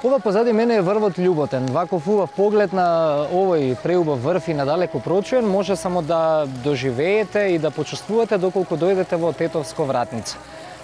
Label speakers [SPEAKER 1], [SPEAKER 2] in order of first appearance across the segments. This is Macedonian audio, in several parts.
[SPEAKER 1] Ова позади мене е врвот Љуботен. Ваков убав поглед на овој преубав врв и надалеку прочуен може само да доживеете и да почувствувате доколку дојдете во Тетовско Вратница.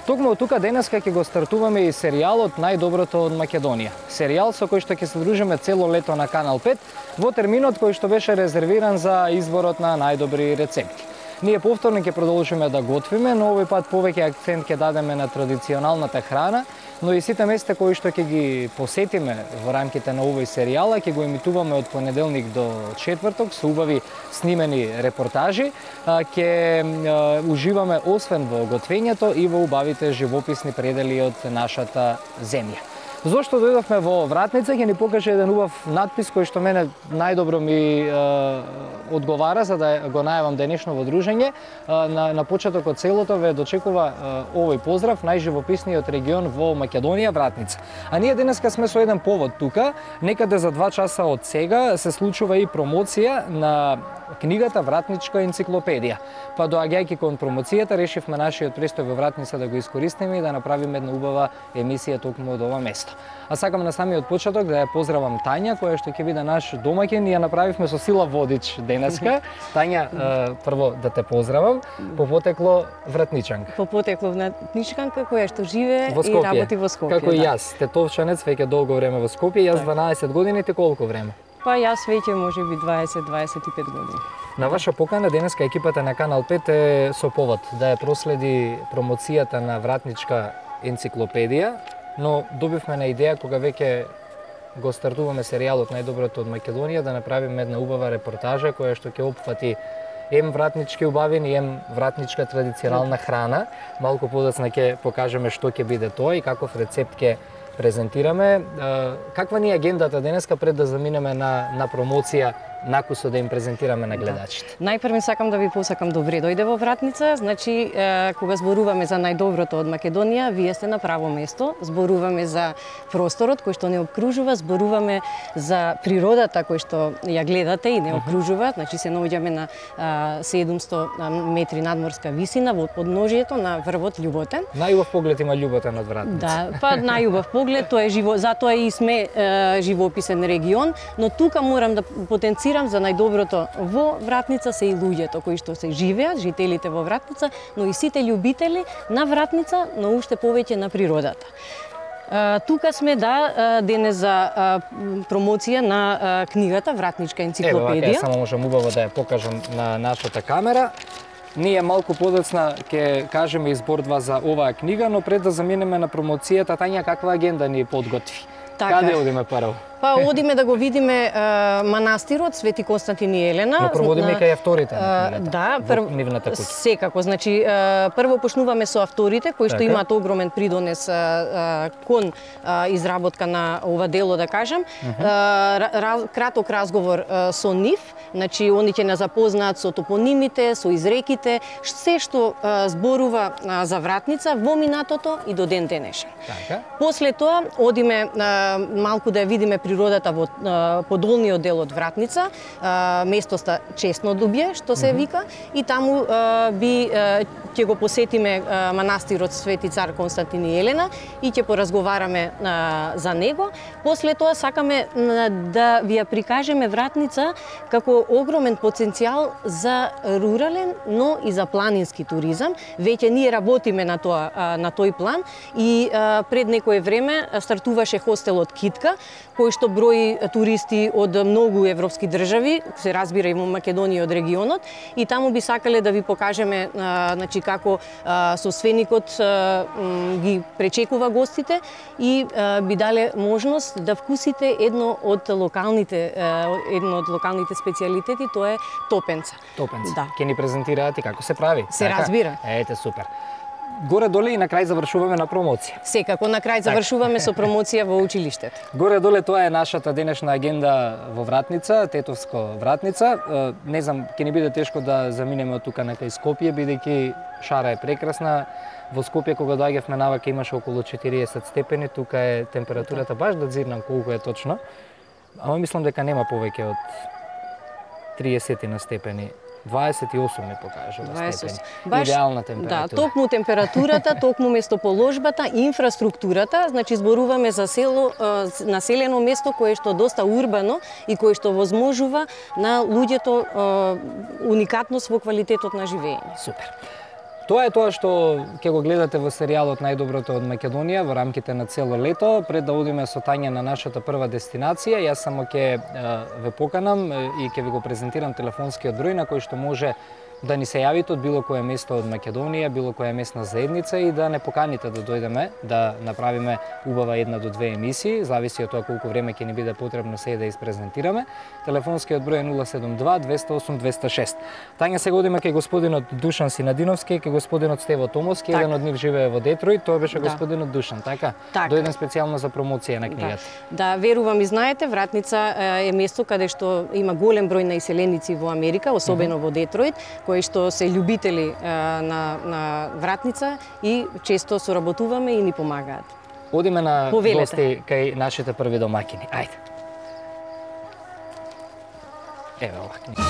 [SPEAKER 1] Токму од тука денеска ќе го стартуваме и серијалот Најдоброто од Македонија. Серијал со кој што ќе се дружиме цело лето на Канал 5 во терминот кој што беше резервиран за изборот на најдобри рецепти. Ние повторно ќе продолжиме да готвиме, но овој пат повеќе акцент ќе дадеме на традиционалната храна, но и сите места кои што ќе ги посетиме во рамките на овој серијал ќе го емитуваме од понеделник до четврток со убави снимени репортажи. Ќе уживаме освен во готвењето и во убавите живописни предели од нашата земја. Зошто дојдовме во Вратница, ќе ни покаже еден убав надпис кој што мене најдобро ми одговара за да го најавам денешно во дружење. На почеток од селото ве дочекува овој поздрав: најживописниот регион во Македонија, Вратница. А ние денеска сме со еден повод тука. Некаде за 2 часа од сега се случува и промоција на книгата Вратничка енциклопедија. Па доаѓајќи кон промоцијата, решивме нашиот престој во Вратница да го искористиме и да направиме една убава емисија токму од ова место. А сакам на самиот почеток да ја поздравам Тања, која што ќе биде наш домаќин и ја направивме со сила водич денеска. Тања, прво да те поздравам, по потекло вратничанка.
[SPEAKER 2] По потекло вратничанка која што живее и работи во Скопје.
[SPEAKER 1] Како и јас, тетовчанец веќе долго време во Скопје, јас 12 години, ти колку време?
[SPEAKER 2] Па јас веќе можеби 20-25 години.
[SPEAKER 1] На ваша покана денеска екипата на Канал 5 е со повод да ја проследи промоцијата на Вратничка енциклопедија, но добивме на идеја кога веќе го стартуваме серијалот Најдоброто од Македонија да направиме една убава репортажа која што ќе опфати ем вратнички убавини, ем вратничка традиционална храна. Малку подоцна ќе покажеме што ќе биде тоа и каков рецепт ќе презентираме. Каква ни е агендата денеска пред да заминеме на промоција, накусо да им презентираме на гледачите?
[SPEAKER 2] Најпрво сакам да ви посакам добре дојде во Вратница. Значи, кога зборуваме за најдоброто од Македонија, вие сте на право место. Зборуваме за просторот кој што не обкружува, зборуваме за природата кој што ја гледате и не обкружува. Значи, се наоѓаме на 700 метри надморска висина во подножието на врвот Љуботен.
[SPEAKER 1] Најубав поглед има Љуботен од Вратница.
[SPEAKER 2] Да, па најубав поглед, тоа е затоа и сме живописен регион, но тука морам да потенцирам за најдоброто во Вратница се и луѓето кои што се живеат, жителите во Вратница, но и сите љубители на Вратница, но уште повеќе на природата. Тука сме денес за промоција на книгата Вратничка енциклопедија.
[SPEAKER 1] Ево, само можам убаво да ја покажам на нашата камера. Ние малку подоцна ќе кажеме избор за оваа книга, но пред да заминеме на промоцијата, Тања, каква агенда ни подготви? Каде одиме прво?
[SPEAKER 2] Па одиме да го видиме манастирот Свети Константин и Елена.
[SPEAKER 1] Но проводиме кај авторите на книгата.
[SPEAKER 2] Да,
[SPEAKER 1] нивната куќа.
[SPEAKER 2] Секако, значи прво почнуваме со авторите кои што имаат огромен придонес кон изработка на ова дело, да кажам. Краток разговор со нив, значи они ќе не запознаат со топонимите, со изреките, се што зборува за Вратница во минатото и до ден денешен. После тоа одиме малку да ја видиме природата во подолниот дел од Вратница, местоста Чеснодубје, што се вика, и таму ќе го посетиме манастирот Свети цар Константин и Елена и ќе поразговараме за него. После тоа сакаме да ви ја прикажеме Вратница како огромен потенцијал за рурален, но и за планински туризам. Веќе ние работиме на тој план и пред некое време стартуваше хостелот Китка, кој што брои туристи од многу европски држави, се разбира и во Македонија од регионот, и таму би сакале да ви покажеме значи како соственикот ги пречекува гостите и би дале можност да вкусите едно од локалните специјалитети, тоа е топенца.
[SPEAKER 1] Топенца. Да. Ќе ни презентираат и како се прави.
[SPEAKER 2] Се разбира.
[SPEAKER 1] Ете, супер. Горе-доле и на крај завршуваме на промоција.
[SPEAKER 2] Секако, на крај завршуваме со промоција во училиштето.
[SPEAKER 1] Горе-доле тоа е нашата денешна агенда во Вратница, Тетовско Вратница. Не знам, ќе ни биде тешко да заминеме од тука на кај Скопје, бидејќи шара е прекрасна. Во Скопје кога доаѓавме навака имаше околу 40 степени, тука е температурата баш да дзирнам колку е точно. Ама мислам дека нема повеќе од 30 на степени 28 ми покажува
[SPEAKER 2] 28.
[SPEAKER 1] степени.
[SPEAKER 2] Баш,
[SPEAKER 1] Идеална температура.
[SPEAKER 2] Да, токму температурата, токму местоположбата, инфраструктурата, значи зборуваме за село, населено место кое што доста урбано и кое што возможува на луѓето уникатност во квалитетот на живење.
[SPEAKER 1] Супер. Тоа е тоа што ќе го гледате во серијалот Најдоброто од Македонија во рамките на цело лето. Пред да одиме со Тања на нашата прва дестинација, јас само ќе ве поканам и ќе ви го презентирам телефонскиот број на кој што може да ни се јавите од било кое место од Македонија, било која местна заедница и да не поканите да дојдеме да направиме убава 1 до 2 емисии, зависи од тоа колку време ќе ни биде потребно се да испрезентираме. Телефонскиот број е 072 208 206. Тања, сега одиме кај господинот Душан Синадиновски, кај господинот Стево Томовски, еден од нив живее во Детройт, тоа беше господинот Душан, така? Дојден специјално за промоција на книгата.
[SPEAKER 2] Да, верувам и знаете, Вратница е место каде што има голем број на иселеници во Америка, особено во Детройт, кои што се љубители на Вратница и често соработуваме и ни помагаат.
[SPEAKER 1] Одиме на гости кај нашите први домакини. Ајде. Еве ова книга.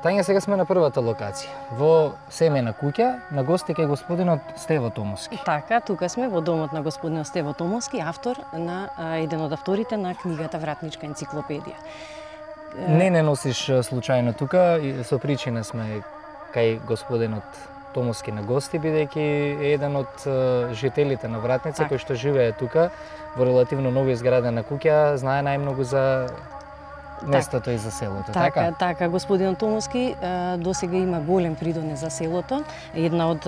[SPEAKER 1] Тања, сега сме на првата локација, во семејна куќа, на гости кај господинот Стево Томовски.
[SPEAKER 2] Така, тука сме во домот на господинот Стево Томовски, автор на еден од авторите на книгата Вратничка енциклопедија.
[SPEAKER 1] Не носиш случајно тука, со причина сме кај господинот Томовски на гости, бидејќи еден од жителите на Вратница кој што живее тука во релативно ново изградена куќа, знае најмногу за местото и за селото, така?
[SPEAKER 2] Така, господин Томовски досега има голем придонес за селото. Една од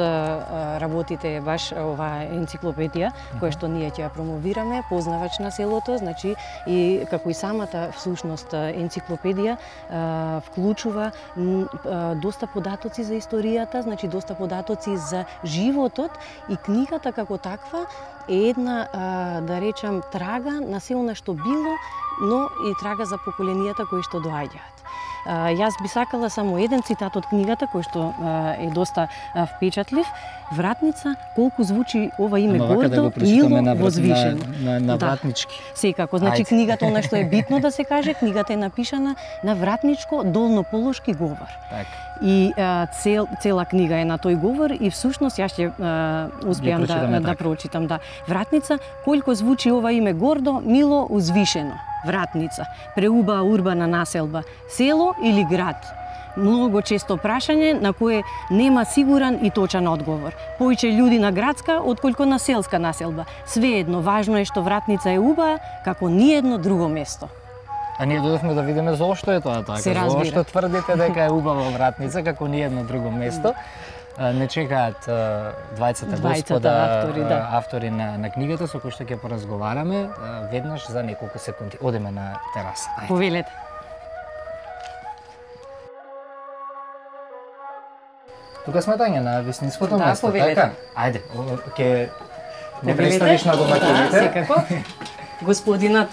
[SPEAKER 2] работите е баш оваа енциклопедија, која што ние ќе ја промовираме, познавач на селото, значи и како и самата всушност енциклопедија вклучува доста податоци за историјата, значи доста податоци за животот и книгата како таква е една, да речам, трага на се она што било, но и трага за поколенијата кои што доаѓаат. Јас би сакала само еден цитат од книгата кој што е доста впечатлив. Вратница, колку звучи ова име гордо, мило, возвишено.
[SPEAKER 1] На вратнички.
[SPEAKER 2] Секако, значи книгата, она што е битно да се каже, книгата е напишана на вратничко долнополошки говор. И цела книга е на тој говор и всушност јас ќе успеам да прочитам. Вратница, колку звучи ова име гордо, мило, узвишено. Вратница, преубава урбана населба, село или град? Многу често прашање на кое нема сигурен и точен одговор. Поиќе луѓе на градска отколку на селска населба. Свеедно, важно е што Вратница е убава како ниедно друго место.
[SPEAKER 1] А ние дојдовме да видиме зошто е тоа така. Зошто тврдите дека е убава Вратница како ниедно друго место. Не чекаат двајцата господа автори на книгата со кои што ќе поразговараме веднаш за неколку секунди. Одиме на тераса.
[SPEAKER 2] Повелете.
[SPEAKER 1] Тука сме, Тања, на вистинското место,
[SPEAKER 2] повелете.
[SPEAKER 1] така? Ајде, ќе не представиш на домакините.
[SPEAKER 2] Секако. Господинот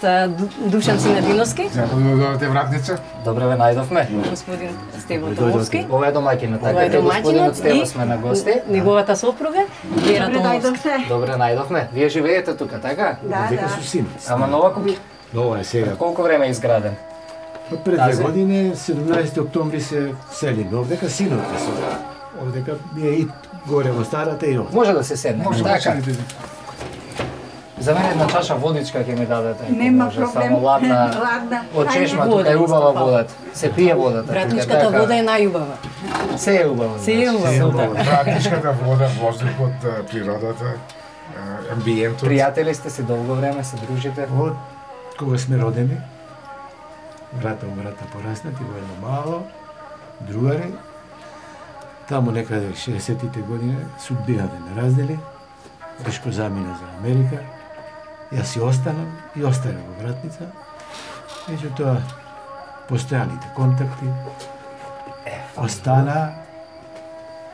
[SPEAKER 2] Душан Синадиновски.
[SPEAKER 3] Добре, Вратница.
[SPEAKER 1] Добре ве најдовме.
[SPEAKER 2] Господин Стево Томовски.
[SPEAKER 1] Ова е домакинот, така е господинот Стево сме на гости.
[SPEAKER 2] Неговата сопруга Вера Томовски.
[SPEAKER 1] Добре најдовме. Вие живеете тука, така?
[SPEAKER 3] Дека со син.
[SPEAKER 1] Ама нова куќа?
[SPEAKER 3] Нова е сега.
[SPEAKER 1] Колку време е изграден?
[SPEAKER 3] Пред 2 години, 17 октомври се селим. Овдека синот е со. Овдека ми е и горе во старата и овде.
[SPEAKER 1] Може да се седне, така? За мене една чаша водичка ќе ми дадете. Нема проблем. Само ладна. Од чешма, тука е убава водата. Се пие водата.
[SPEAKER 2] Вратничката вода е најубава.
[SPEAKER 1] Се е убава.
[SPEAKER 2] Се е убава.
[SPEAKER 3] Вратничката вода, воздухот, природата, амбиентот.
[SPEAKER 1] Пријатели сте си долго време, се дружите?
[SPEAKER 3] Од кога сме родени, врата пораснати во едно мало, другари, таму некаде 60-тите години судбината не раздели, Бешко замина за Америка, јас си останам и останам во Вратница. Меѓутоа, постојаните контакти остана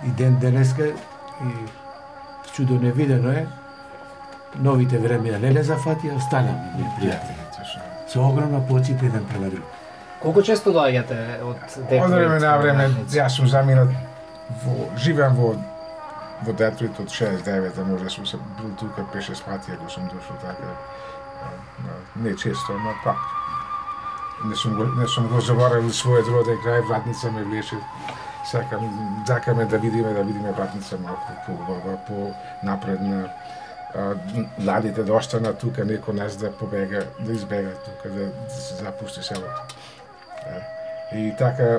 [SPEAKER 3] и ден денеска и чудо невидено е, новите времења не зафатија, останаме ние пријатели. Со огромна почит еден према друг.
[SPEAKER 1] Колку често доаѓате од Детройт?
[SPEAKER 3] Од време на време, јас сум заминат живеам во Детройт од 69-та, може сум се бил тука 5-6 пати, ако сум дошол така, не често, ама пак.
[SPEAKER 4] не сум го заборавил својот роден крај, Вратница ме влече. Сакаме да видиме Вратница малку по напредна. Младите да останат тука, некој нас да побега, да избега тука, да се запусти селото. И така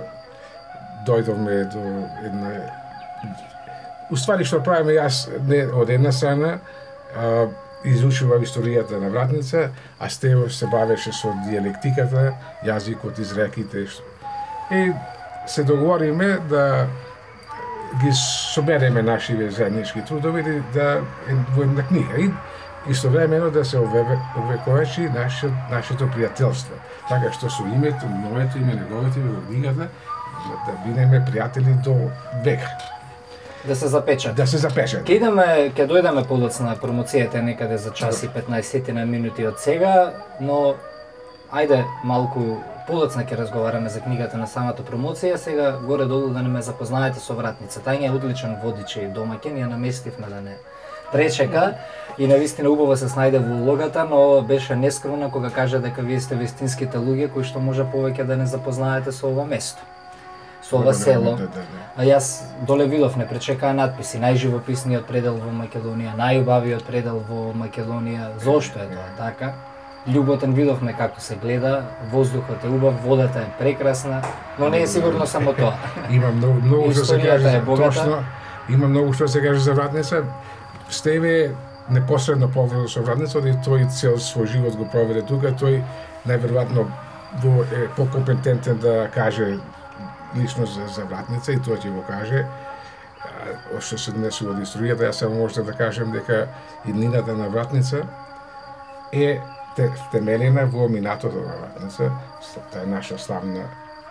[SPEAKER 4] дојдовме до една... Уствари што правиме јас од една страна, изучував историјата на Вратница, а Стево се бавеше со диалектиката, јазикот, изреките. И се договориме да ги собереме нашиве заеднички трудови да во една книга и истовремено да се овековечи нашето пријателство. Така што со името, моето име, неговото име во книгата, да бидеме пријатели до века.
[SPEAKER 1] Да се запечат.
[SPEAKER 4] Да се запечат.
[SPEAKER 1] Ќе дојдеме подоцна промоцијата некаде за час и 15 на минути од сега, но ајде малку подоцна ќе разговараме за книгата на самата промоција. Сега горе-долу да не ме запознаете со Вратница. Тања е одличен водич и домаќин, ја наместивме да не пречека и навистина убаво се снајде во улогата, но беше нескромна кога кажа дека вие сте вистинските луѓе кои што може повеќе да не запознаете со ова место, со ова село. А јас доле видов не пречекаа надписи: најживописниот предел во Македонија, најубавиот предел во Македонија. Зошто е тоа така? Љуботен, видовме како се гледа, воздухот е убав, водата е прекрасна, но не е сигурно само тоа.
[SPEAKER 4] Има многу што се каже точно. Има многу што се каже за Вратница. Стеве непосредно поврзан со Вратница, и тој цел свој живот го проведе тука, тој најверојатно е покомпетентен да каже лично за Вратница и тоа ќе го каже. Што се днесува од историјата, јас само можам да кажем дека иднината на Вратница е темелена во минатото на Вратница, таа е наша славна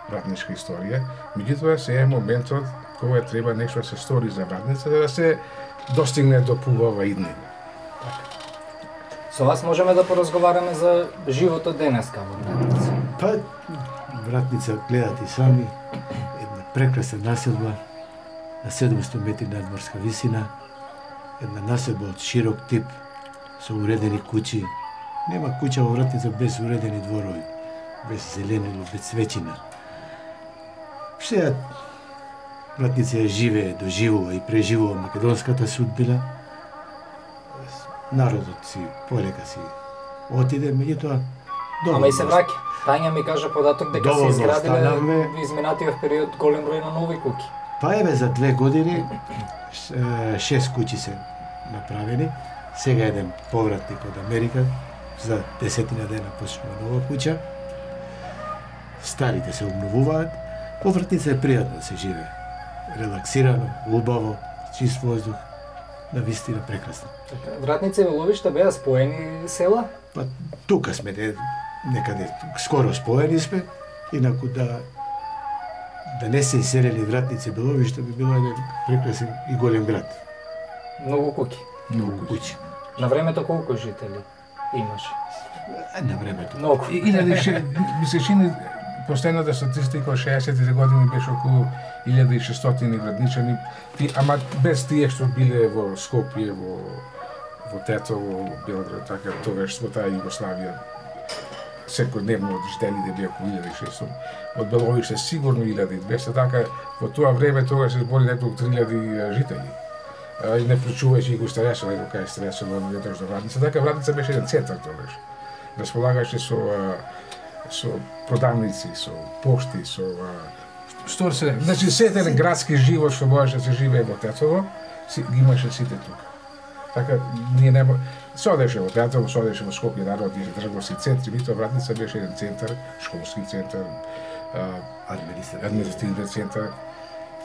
[SPEAKER 4] вратничка историја. Меѓутоа се е моментот кога треба нешто да се стори за Вратница, да се достигне до пубава иднина.
[SPEAKER 1] Со вас можеме да поразговараме за животот денеска во Вратница.
[SPEAKER 3] Па, Вратница, гледате и сами, една прекрасна населба на 700 метри надморска висина, една населба од широк тип, со уредени куќи. Нема куќа во Вратница без уредени дворови, без зеленило, без цвеќина. Сега Вратница ја живее, доживува и преживува македонската судбина. Народот си полека си отиде, меѓутоа
[SPEAKER 1] Ама и се враќа. Тања ми кажа податок дека се изградиле во изминатиот период голем број на нови куќи.
[SPEAKER 3] Па еве за 2 години 6 куќи се направени. Сега еден повратник од Америка за 10 дена почнува нова куќа. Старите се обновуваат. Во Вратница е пријатно да се живее. Релаксирано, убаво, чист воздух, навистина прекрасно.
[SPEAKER 1] Вратница и Ловиште беа споени села?
[SPEAKER 3] Па тука сме некаде скоро споени сме, инаку да не се иселени Вратница и Беловиште би било еден прекрасен и голем град.
[SPEAKER 1] Многу куќи.
[SPEAKER 3] Многу куќи.
[SPEAKER 1] На времето колку жители имаше?
[SPEAKER 3] На времето.
[SPEAKER 1] Многу.
[SPEAKER 4] Ми се чини последната статистика од 60-тите години беше околу 1600 градничани, ама без тие што биле во Скопје, во Тетово, Белград, така тогаш во таа Југославија. Секојдневно жителите беа околу 1600. Од Беловиште сигурно 1200, така во тоа време тогаш се збори неколку 3000 жители. И не вклучувајќи и го Старесово, и кај Старесово на ветрош до Вратница, така Вратница беше еден центар тогаш. Располагаше со продавници, со пошти, со сторце, значи сетен градски живот што можеше да се живее во Тетово, ги имаше сите тука. Така ние нема содеше во Тетово, содеше во Скопје, народ и трговски центри, меѓутоа Вратница беше еден центар, школски центар, административен центар,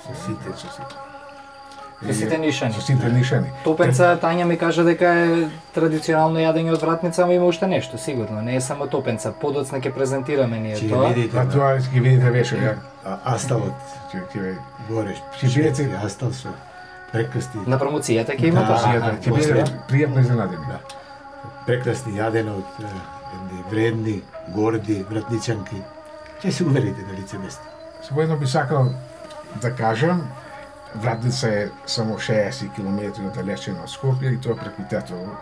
[SPEAKER 4] со сите нишани. Со сите нишани.
[SPEAKER 1] Топенца, Тања ми кажа дека е традиционално јадење од Вратница, ама има уште нешто, сигурно. Не е само топенца. Подоцна ќе презентираме ние тоа.
[SPEAKER 4] Тоа ќе видите веше, ја.
[SPEAKER 3] Асталот, ќе гореш, шведски астал со прекрасни.
[SPEAKER 1] На промоцијата ќе има тоа.
[SPEAKER 4] Ќе биде пријатно изненадени.
[SPEAKER 3] Прекрасни јадено од едни вредни, горди вратничанки. Ќе се уверите на лице место.
[SPEAKER 4] Воедно би сакал да кажам, Вратница е само 60 км оддалечена од Скопје и тоа преку Тетово.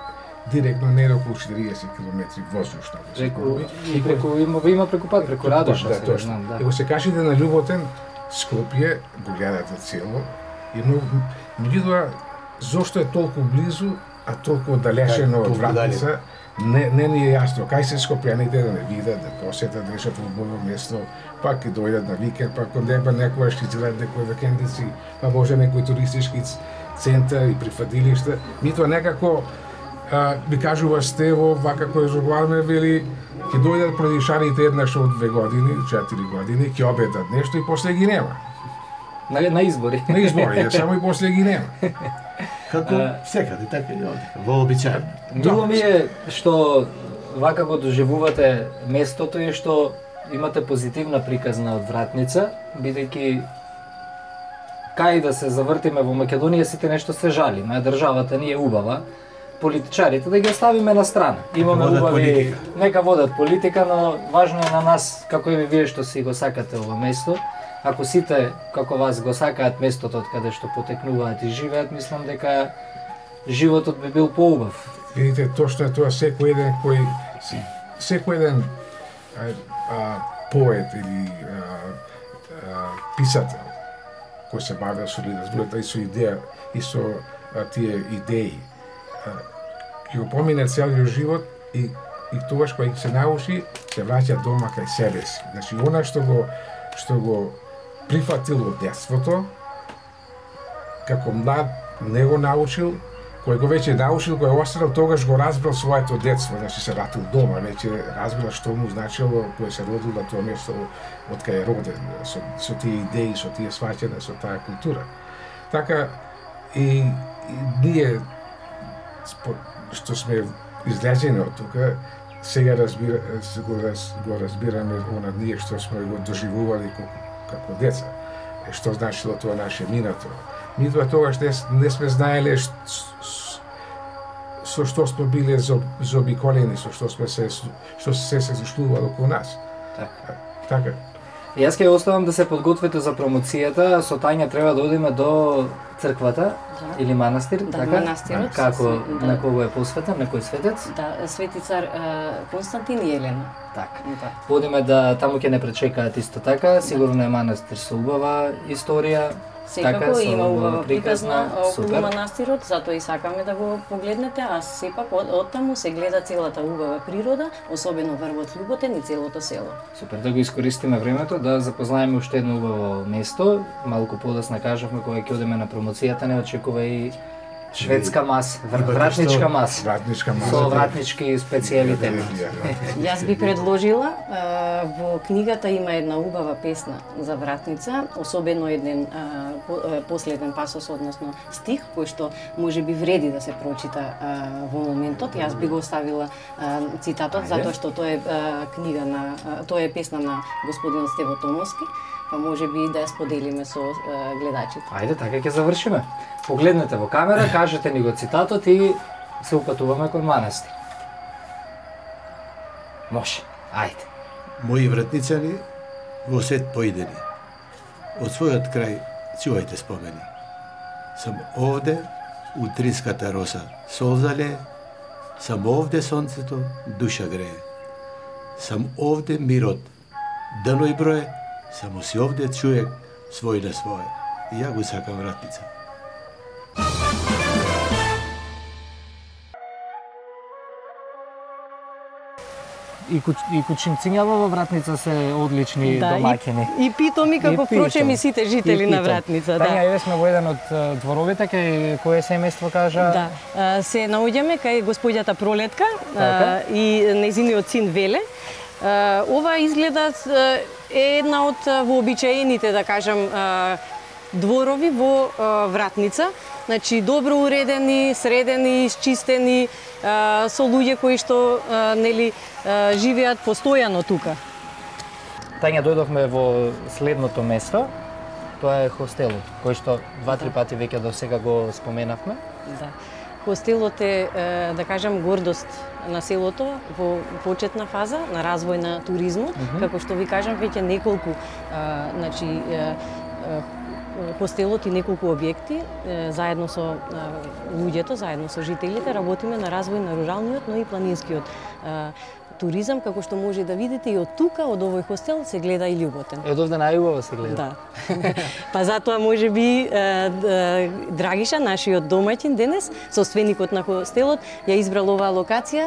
[SPEAKER 4] директно не околу 40 км воздушно.
[SPEAKER 1] Има преку пат, преку Радоша,
[SPEAKER 4] да, точно.
[SPEAKER 1] знам, да.
[SPEAKER 4] Ако се кажете на Љуботен, Скопје, го гледате цело, и меѓутоа, зошто е толку близу, а толку оддалечено од Вратница, не ни е јасно. Кај се скопјаните да не видат, да посетат, решат убаво место, пак ќе дојдат на викенд, пак некојаш ќе изгледат некои викендици, па може некој туристички центар и прифатилишта. Митоа некако би кажува Стево, вака кој разговараме, вели, ќе дојдат продишарите еднаш од 2 години, 4 години, ќе обетат нешто и после ги нема.
[SPEAKER 1] На избори.
[SPEAKER 4] На избори, само и после ги нема.
[SPEAKER 3] Како секаде, така и овде, во обичај.
[SPEAKER 1] Мило ми е што вака го доживувате местото и што имате позитивна приказна од Вратница, бидејќи кај да се завртиме во Македонија сите нешто се жалиме, државата ни е убава, политичарите да ги оставиме на страна. Имаме убави, нека водат политика, но важно е на нас, како и вие што си го сакате ова место. Ако сите, како вас, го сакаат местото од каде што потекнуваат и живеат, мислам дека животот би бил поубав.
[SPEAKER 4] Видите, точно е тоа, секој еден поет или писател кој се бавил со литературата и со идеја и со тие идеи, ќе го помине целиот живот и тогаш кога се научи, се враќа дома кај себе си. Значи, она што го прифатил од детството, како млад не го научил, кој го веќе научил, кој останал, тогаш го разбрал своето детство, значи се вратил дома, веќе разбрал што му значило кој се родил на тоа место од кај е роден, со тие идеи, со тие сваќања, со таа култура. Така и ние што сме излезени од тука, сега го разбираме она ние што сме го доживували како деца. Што значило тоа наше минато. Митоа тогаш не сме знаеле со што сме биле заобиколени, со што се случувало околу нас. Така.
[SPEAKER 1] Јас ќе оставам да се подготвите за промоцијата. Со Тања треба да одиме до црквата или манастир,
[SPEAKER 2] да,
[SPEAKER 1] така?
[SPEAKER 2] Манастирот.
[SPEAKER 1] Како на кого е посветен, на кој светец?
[SPEAKER 2] Да, свети цар Константин и Елена.
[SPEAKER 1] Така. Одиме да таму ќе не пречекаат исто така. Сигурно е манастир со убава историја.
[SPEAKER 2] Секако има убава приказна околу манастирот, затоа и сакаме да го погледнете, а сепак од таму се гледа целата убава природа, особено врвот Љуботен и целото село.
[SPEAKER 1] Супер, да го искористиме времето да запознаеме уште едно убаво место. Малку подоцна кажавме кога ќе одиме на промоцијата, не очекува и шведска маса, вратничка маса.
[SPEAKER 4] Вратничка маса.
[SPEAKER 1] Со вратнички специјалитети.
[SPEAKER 2] Јас би предложила, во книгата има една убава песна за Вратница, особено еден последен пасос, односно стих, кој што може би вреди да се прочита во моментот. Јас би го оставила цитатот, затоа што тоа е книга тоа е песна на господин Стево Томовски, па може би да ја споделиме со гледачите.
[SPEAKER 1] Ајде, така ќе завршиме. Погледнете во камера, кажете ни го цитатот и се упатуваме кон манастир. Може, ајде.
[SPEAKER 3] Мои вратницани во свет поидени. Од својот крај чувајте спомени. Сам овде, утринската роса солзале, сам овде сонцето душа грее. Сам овде мирот, дано и брое, само си овде човек свој на своје. И ја го сакам Вратница.
[SPEAKER 1] И кучинцињава во Вратница се одлични домаќини.
[SPEAKER 2] И питоми како впрочем и сите жители на Вратница.
[SPEAKER 1] Тања, еве сме во еден од дворовите, кај кое семејство кажа?
[SPEAKER 2] Да, се наоѓаме кај господјата Пролетка и нејзиниот син Веле. Ова изгледа е една од вообичаените, да кажам, дворови во Вратница. Значи, добро уредени, средени, исчистени, со луѓе кои што нели живеат постојано тука.
[SPEAKER 1] Тања, дојдовме во следното место. Тоа е хостелот, кој што 2-3 пати веќе до сега го споменавме.
[SPEAKER 2] Да. Хостелот е, да кажам, гордост на селото во почетна фаза на развој на туризмот. Како што ви кажам, веќе неколку хостелот и неколку објекти, заедно со луѓето, заедно со жителите, работиме на развој на руралниот, но и планинскиот туризам, како што може да видите и од тука, од овој хостел, се гледа и Љуботен.
[SPEAKER 1] Од овде најубаво се гледа.
[SPEAKER 2] Да. Па затоа може би Драгиша, нашиот домаќин денес, собственикот на хостелот, ја избрал оваа локација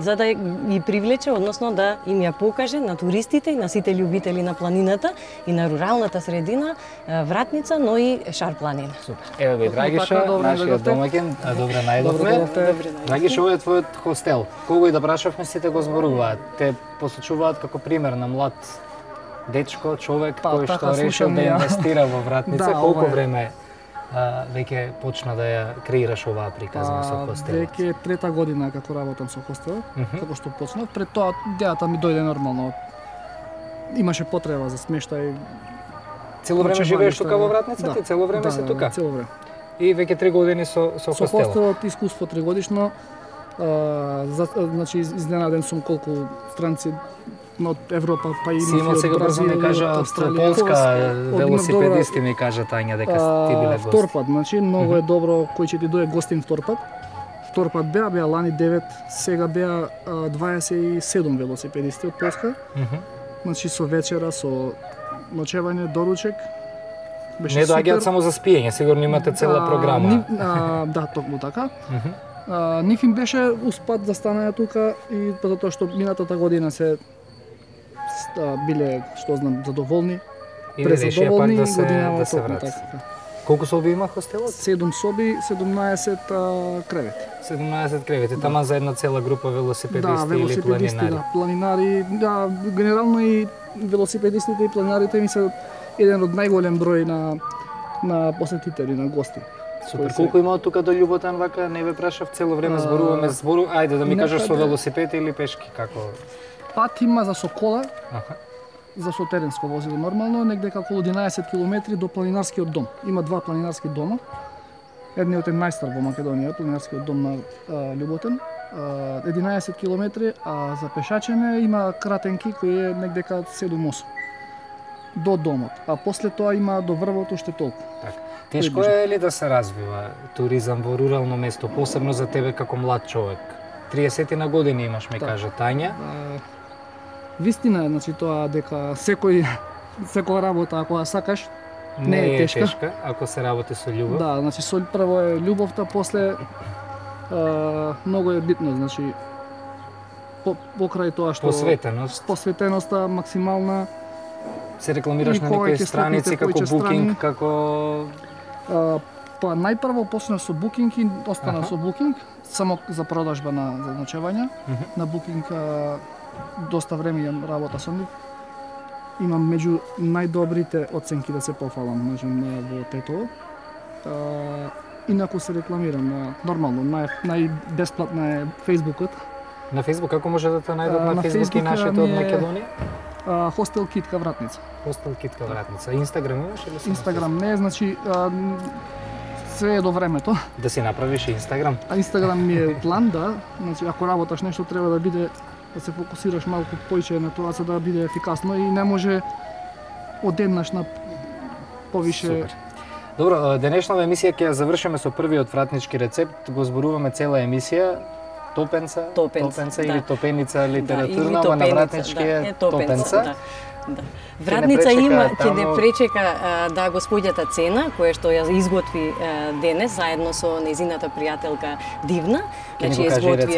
[SPEAKER 2] за да ги привлече, односно да им ја покаже на туристите и на сите љубители на планината и на руралната средина Вратница, но и Шар планина.
[SPEAKER 1] Супер. Еве бе Драгиша, нашиот домаќин, добре најдовме. Драгиша, овој е твојот хостел. Кого и да прашавме, сите го зборуваат. Те посочуваат како пример на млад дечко, човек кој што решил да инвестира во Вратница. Колку време веќе почна да ја креираш оваа приказна со хостелот?
[SPEAKER 5] Веќе трета година како работам со хостелот, како што почнав. Пред тоа идејата ми дојде нормално. Имаше потреба за смештај.
[SPEAKER 1] Цело време живееш тука во Вратница? Ти цело време си тука?
[SPEAKER 5] Да, цело време.
[SPEAKER 1] И веќе 3 години со хостелот?
[SPEAKER 5] Со хостелот искуство 3 годишно. Значи изненаден сум колку странци од Европа, па и
[SPEAKER 1] од сега брзо ми кажа од Полска велосипедисти ми кажа Тања дека ти биле гост.
[SPEAKER 5] Втор пат, значи многу е добро кој ќе ти дое гостин втор пат. Втор пат беа лани 9, сега беа 27 велосипедисти од Полска. Значи со вечера, со ночевање, доручек.
[SPEAKER 1] Не доаѓаат само за спиење, сигурно имате цела програма.
[SPEAKER 5] Да, токму така. Нив им беше успат да станаја тука и затоа што минатата година се биле, што знам, задоволни.
[SPEAKER 1] И решија пак да се вратат.
[SPEAKER 5] Така.
[SPEAKER 1] Колку соби има хостелот?
[SPEAKER 5] 7 соби, 17 кревети.
[SPEAKER 1] 17 кревети, тама за една цела група велосипедисти или планинари.
[SPEAKER 5] Да, планинари, да, генерално и велосипедистите и планинарите ми се еден од најголем број на посетители, на гости.
[SPEAKER 1] Супер. Колку има од тука до Љуботен, вака не ве прашав, цело време зборуваме, ајде да ми кажеш со велосипед или пешки, како?
[SPEAKER 5] Пат има за со кола, за со теренско возило нормално, негде како 11 км до планинарскиот дом. Има 2 планинарски дома. Едниот е најстар во Македонија, планинарскиот дом на Љуботен. 11 км, а за пешачење има кратенки кој е негде кај 7-8 до домот, а после тоа има до врвот уште толку.
[SPEAKER 1] Тешко е ли да се развива туризам во рурално место, посебно за тебе како млад човек? 30 на години имаш, ми каже Тања.
[SPEAKER 5] Вистина е, значи тоа дека секоја работа ако ја сакаш
[SPEAKER 1] не е тешка, ако се работи со љубов.
[SPEAKER 5] Да, значи прво е љубовта, после многу е битно, значи покрај тоа што посветеноста максимална.
[SPEAKER 1] Се рекламираш на некои страници како Booking, како
[SPEAKER 5] па најпрво почнав со Booking и останав со Booking само за продажба за ночевања. На Booking доста време ја работа со нив. Имам меѓу најдобрите оценки, да се пофалам, можам во Тетово. Инаку се рекламирам нормално, најбесплатна е Фејсбукот.
[SPEAKER 1] На Фејсбук како може да те најдат на Фејсбук и нашите од Македонија?
[SPEAKER 5] Хостел Китка Вратница.
[SPEAKER 1] Хостел Китка Вратница. Инстаграм имаш или?
[SPEAKER 5] Инстаграм не, значи све е до времето.
[SPEAKER 1] Да си направиш Инстаграм?
[SPEAKER 5] Инстаграм ми е план, да. Значи ако работаш нешто треба да биде, да се фокусираш малку поише на тоа за да биде ефикасно и не може одеднаш на повише.
[SPEAKER 1] Супер. Добро, денешната емисија ќе ја завршиме со првиот вратнички рецепт, го зборуваме цела емисија. Топенца или топеница литературна, ама на вратнички е топенца.
[SPEAKER 2] Да. Вратница ќе не пречека да го споѓата цена, која што ја изготви денес заедно со незината пријателка Дивна.
[SPEAKER 1] Значи изготви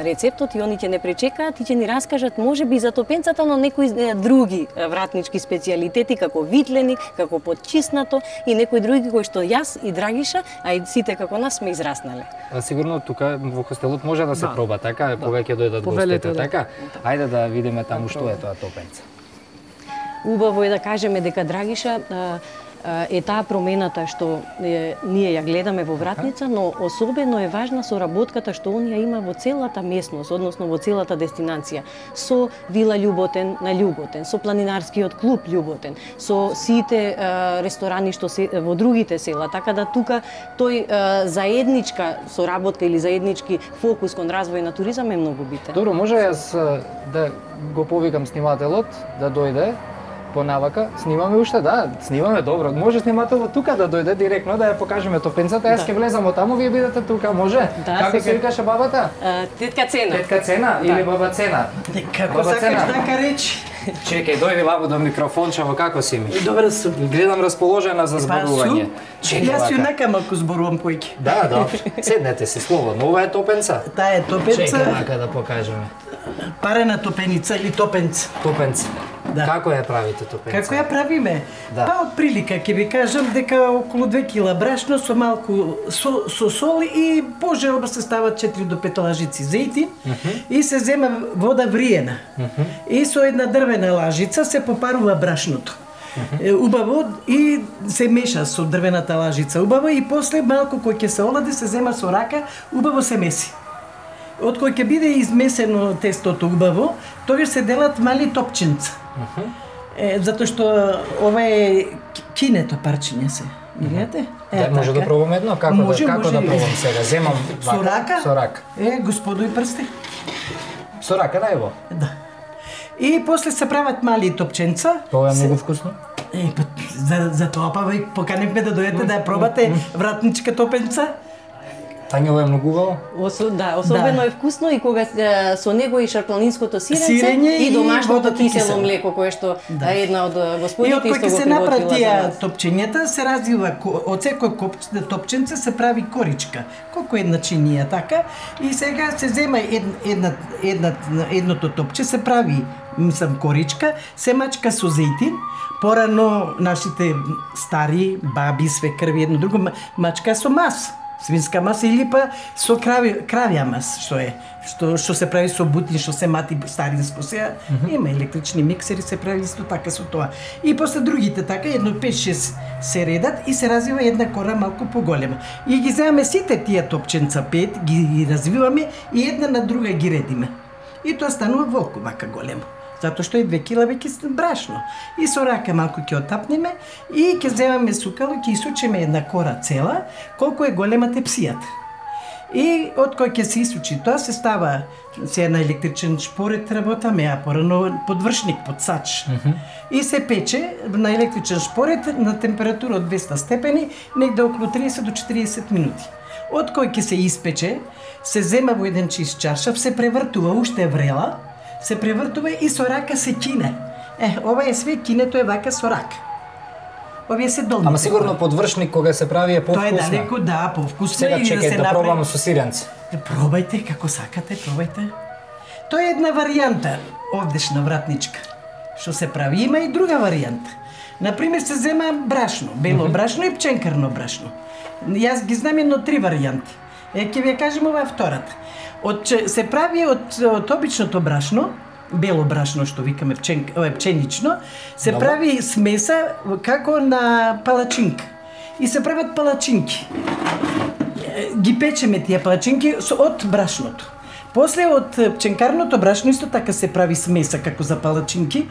[SPEAKER 2] рецептот и они ќе не пречекаат и ќе ни раскажат можеби за топенцата, но некои други вратнички специјалитети како витлени, како потчиснато и некои други кои што јас и Драгиша, а и сите како нас сме израснале.
[SPEAKER 1] Сигурно тука во хостелот може да се проба, така, кога ќе дојдат гостите, така? Ајде да видиме таму што е тоа топенца.
[SPEAKER 2] Убаво е да кажеме дека Драгиша е таа промената што ние ја гледаме во Вратница, но особено е важна соработката што он ја има во целата местност, односно во целата дестинација, со Вила Љуботен на Љуботен, со планинарскиот клуб Љуботен, со сите ресторани што се во другите села, така да тука тој заедничка соработка или заеднички фокус кон развој на туризам е многу битен.
[SPEAKER 1] Добро, може јас да го повикам снимателот да дојде Понавака, снимаме уште, да, снимаме добро. Може снимателот тука да дојде директно да ја покажеме топенцата. Јас ќе влезам од таму, вие бидете тука, може?
[SPEAKER 2] Да,
[SPEAKER 1] Како се викаше бабата?
[SPEAKER 2] Тетка Цена.
[SPEAKER 1] Тетка Цена или баба Цена?
[SPEAKER 6] Како сакаш така речи?
[SPEAKER 1] Чекај, дојди лабо до микрофончево, како си ми?
[SPEAKER 6] Добро сум.
[SPEAKER 1] Гледам расположена за зборување.
[SPEAKER 6] Јас јунака малку зборувам поеќе.
[SPEAKER 1] Да, добро. Седнете се слободно. Ова е топенца.
[SPEAKER 6] Таа е топенца.
[SPEAKER 1] Чекај мака да покажеме.
[SPEAKER 6] Парена топеница или топенц.
[SPEAKER 1] Топенца.
[SPEAKER 6] Да.
[SPEAKER 1] Како ја правите топенца?
[SPEAKER 6] Како ја правиме?
[SPEAKER 1] Да.
[SPEAKER 6] Па од прилика ќе ви кажам дека околу 2 кила брашно со малку со сол и пожелба се стават 4 до 5 лажици зејтин и се зема вода вриена. И со една дрвена лажица се попарува брашното. Убаво и се меша со дрвената лажица убаво и после малку кој ќе се олади се зема со рака, убаво се меси. Од кој ќе биде измесено тестото убаво, тогаш се делат мали топченца. Затоа што ова е кинето парчиња се. Видите?
[SPEAKER 1] Да, може да пробам едно? Како да пробам сега? Земам
[SPEAKER 6] со рака?
[SPEAKER 1] Со рака.
[SPEAKER 6] Господој прсте.
[SPEAKER 1] Со рака, да ево?
[SPEAKER 6] Да. И после се прават мали топченца.
[SPEAKER 1] Тоа е многу вкусно.
[SPEAKER 6] За тоа па ви поканивме да дојдете да ја пробате вратничка топенца.
[SPEAKER 1] Тања, ова е многу убаво.
[SPEAKER 2] Особено е вкусно и кога со него и шарпланинското сиренце и домашното кисело млеко кое што една од господите исто го приготвила за нас. И од кога се направи тие
[SPEAKER 6] топчењата се развива од секој топченце се прави коричка, колку една чинија така и сега се зема едното топче се прави коричка, се мачка со зејтин. Порано нашите стари баби, свекрви едно друго мачка со мас. Свинска маса или па со кравја мас, што се прави со бутин, што се мати старинско се. Има електрични миксери, се прави исто така со тоа. И после другите така, едно 5-6 се редат и се развива една кора малку поголема. И ги земаме сите тие топченца 5, ги развиваме и една на друга ги редиме. И тоа станува волку вака големо. Затоа што е 2 кила веќе брашно. И со рака малку ќе отапнеме и ќе земаме сукало, ќе исучиме една кора цела, колку е голема тепсијата. И од кој ќе се исучи тоа, се става се на електричен шпорет работаме, а порано подвршник, подсач. И се пече на електричен шпорет на температура од 200 степени, негде околу 30 до 40 минути. Од кој ќе се испече, се зема во еден чист чаршаф, се превртува, уште е врела, се превртува и со рака се кине. Ова е све, кинето е вака со рака. Овие се долни.
[SPEAKER 1] Ама сигурно подвршник кога се прави е повкусно.
[SPEAKER 6] Тоа е далеко, да, повкусно.
[SPEAKER 1] Сега чекај да пробаме со сиренце.
[SPEAKER 6] Пробајте како сакате, пробајте. Тоа е една варијанта, овдешна вратничка, што се прави. Има и друга варијанта. Например, се зема брашно, бело брашно и пченкарно брашно. Јас ги знам едно 3 варијанти. Ќе ви ја кажем ова втората. Се прави од обичното брашно, бело брашно што викаме пченично, се прави смеса како на палачинка. И се прават палачинки. Ги печеме тие палачинки од брашното. После од пченкарното брашно исто така се прави смеса како за палачинки.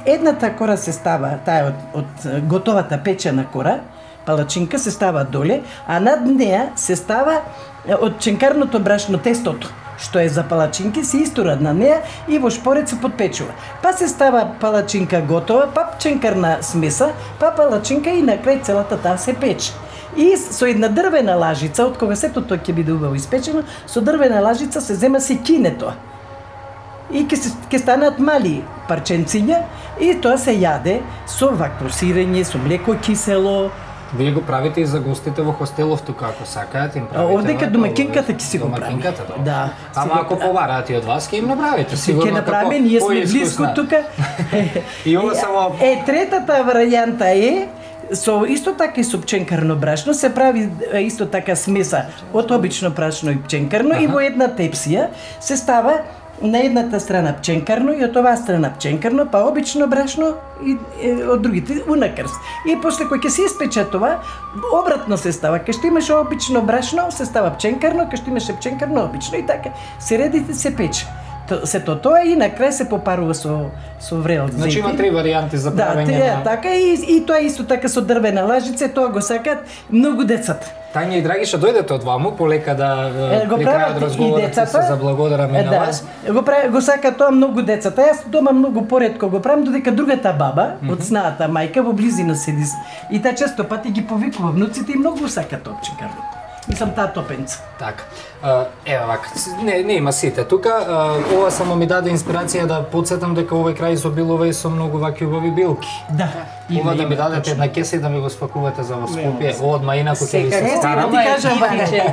[SPEAKER 6] Едната кора се става, таа од готовата печена кора, палачинка се става доле, а над неа се става од пченкарното брашно тестото, што е за палачинки, се истура на неа и во шпорец се подпечува. Па се става палачинка готова, па пченкарна смеса, па палачинка и на крај целата таа се пече. И со една дрвена лажица, од кога сето тоа ќе биде убаво испечено, со дрвена лажица се зема се кине тоа. И ќе станат мали парченциња и тоа се јаде со вакво сирење, со млеко кисело.
[SPEAKER 1] Вие го правите и за гостите во хостелов тука, ако сакаат им правите.
[SPEAKER 6] Овдека домакинката ќе си го прави. Да.
[SPEAKER 1] Ама ако побараат и од вас, ќе им направите. Сигурно
[SPEAKER 6] ќе направиме, ние сме близко тука.
[SPEAKER 1] И ова само
[SPEAKER 6] третата варијанта е со исто така и со пченкарно брашно се прави исто така смеса од обично брашно и пченкарно и во една тепсија се става на едната страна пченкарно и од оваа страна пченкарно, па обично брашно и од другите унакрс. И после кој ќе се испече тоа, обратно се става. Кај што имаше обично брашно, се става пченкарно, кај што имаше пченкарно обично и така. Се редите се пече. Сето тоа и на крај се попарува со врел зејтин.
[SPEAKER 1] Значи има 3 варијанти за правење.
[SPEAKER 6] Да, така и тоа исто така со дрвена лажица, тоа го сакат многу децата.
[SPEAKER 1] Тања и Драгиша, дојдете од ваму, полека да при крајот разговорот се заблагодараме на вас.
[SPEAKER 6] Го сака тоа многу децата. Јас дома многу поретко го правам, додека другата баба, од снаата мајка, во близина седи. И таа често пати ги повикува внуците и многу сака топче. Мислам таа топенца.
[SPEAKER 1] Така. Ева вака, не има сите тука. Ова само ми даде инспирација да потсетам дека овој крај изобилува и со многу вакви убави билки.
[SPEAKER 6] Да.
[SPEAKER 1] Ова да ми дадете една кеса и да ми го спакувате за во Скопје. Одма инаку ќе ви се старам.
[SPEAKER 6] Ти кажам,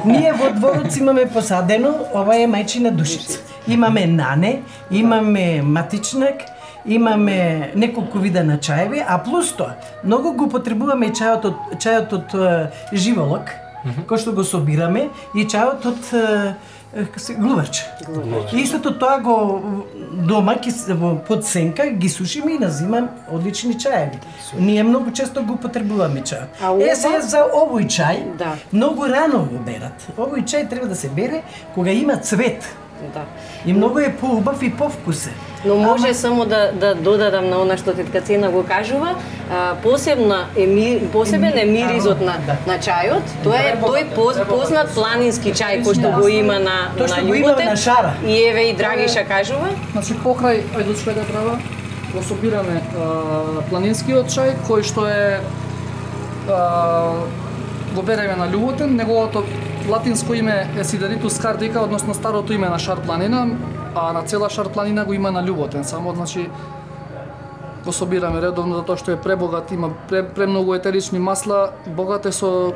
[SPEAKER 6] ние во дворот имаме посадено, ова е мајчина душица. Имаме нане, имаме матичнак, имаме неколку вида на чаеви, а плюс тоа, многу го потребуваме чајот од живолок, кој што го собираме, и чајот од глуварче. И истото тоа го дома под сенка ги сушиме и назимам одлични чаеви. Ние многу често го потребуваме чај. Сега за овој чај, многу рано го берат. Овој чај треба да се бере кога има цвет.
[SPEAKER 2] Да.
[SPEAKER 6] И многу е поубав и повкусен.
[SPEAKER 2] Но може само да додадам на она што тетка Цена го кажува, посебен е миризот на чајот. Тој познат планински чај кој што го има на Љуботен. И еве и Драгиша кажува.
[SPEAKER 5] Значи покрај Ајдучка трава го собираме планинскиот чај кој што е го береме на Љуботен, неговото латинско име е Сидеритус кардика, односно старото име на Шар планина, а на цела Шар планина го има на Љуботен. Само, значи, го собираме редовно, затоа што е пребогат, има премногу етерични масла, богат е со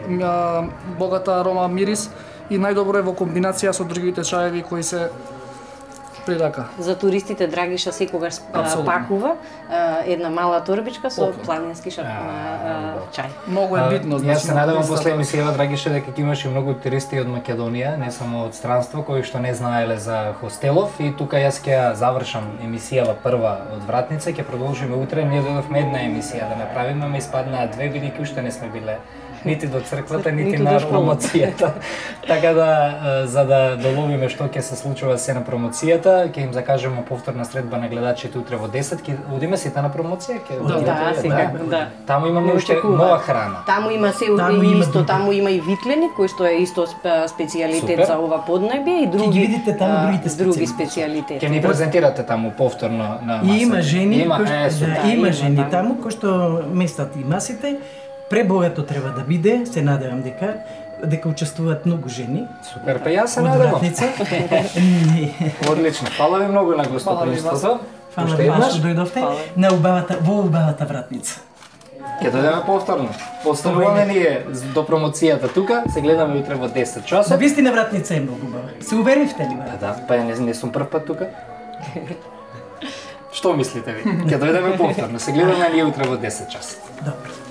[SPEAKER 5] богата арома, мирис и најдобро е во комбинација со другите чаеви кои се при рака.
[SPEAKER 2] За туристите Драгиша секогаш пакува една мала торбичка со планински чај.
[SPEAKER 5] Многу е битно, значи.
[SPEAKER 1] Јас се надевам после емисијава Драгиша дека ќе имаше многу туристи од Македонија, не само од странство, кои што не знаеле за хостелов, и тука јас ќе завршам емисијава прва од Вратница, ќе продолжиме утре. Ние дојдовме една емисија да направиме, ме испаднаа две, бидејќи уште не сме биле нити до црквата, нити на промоцијата. Така да, за да доловиме што ќе се случува се на промоцијата, ќе им закажеме повторна средба на гледачите утре во 10. Ќе одиме сите на промоција?
[SPEAKER 2] Да, сега, да.
[SPEAKER 1] Таму имаме уште нова храна.
[SPEAKER 2] Таму има се исто, таму има и витлени, кој што е исто специјалитет за ова поднебје, и други
[SPEAKER 6] видите таму
[SPEAKER 2] други специјалитети.
[SPEAKER 1] Ќе ни презентирате таму повторно на масата.
[SPEAKER 6] И има жени, има жени таму кои што местат и масите. Пребогато треба да биде, се надевам дека учествуваат многу жени.
[SPEAKER 1] Супер, па јас се надевам. Одлично. Фала ви многу на гостопримството.
[SPEAKER 6] Фала ви што дојдовте во убавата Вратница.
[SPEAKER 1] Ќе дојдеме повторно. Остануваме ние до промоцијата тука, се гледаме утре во 10 часот.
[SPEAKER 6] На вистина Вратница е многу убава. Се уверивте ли?
[SPEAKER 1] Да, па не сум прв пат тука. Што мислите ви? Ќе дојдеме повторно, се гледаме ние утре во 10 часот.
[SPEAKER 6] Добро.